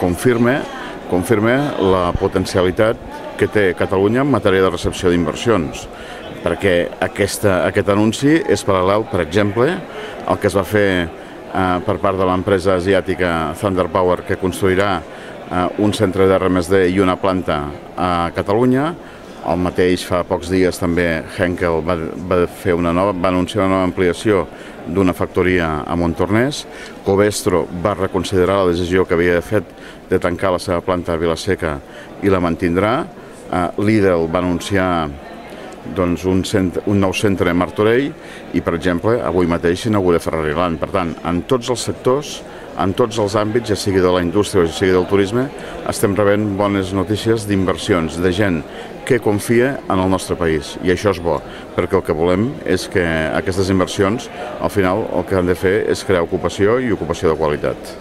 confirma la potencialitat que té Catalunya en matèria de recepció d'inversions, perquè aquest anunci és paral·lel, per exemple, al que es va fer per part de l'empresa asiàtica Thunder Power, que construirà un centre d'R+D i una planta a Catalunya. El mateix fa pocs dies també Henkel va anunciar una nova ampliació d'una factoria a Montornès. Covestro va reconsiderar la decisió que havia fet de tancar la seva planta a Vila-seca i la mantindrà. Lidl va anunciar un nou centre a Martorell i, per exemple, avui mateix s'inaugura Ferrariland. Per tant, en tots els sectors, en tots els àmbits, ja sigui de la indústria o ja sigui del turisme, estem rebent bones notícies d'inversions, de gent que confia en el nostre país. I això és bo, perquè el que volem és que aquestes inversions, al final, el que han de fer és crear ocupació i ocupació de qualitat.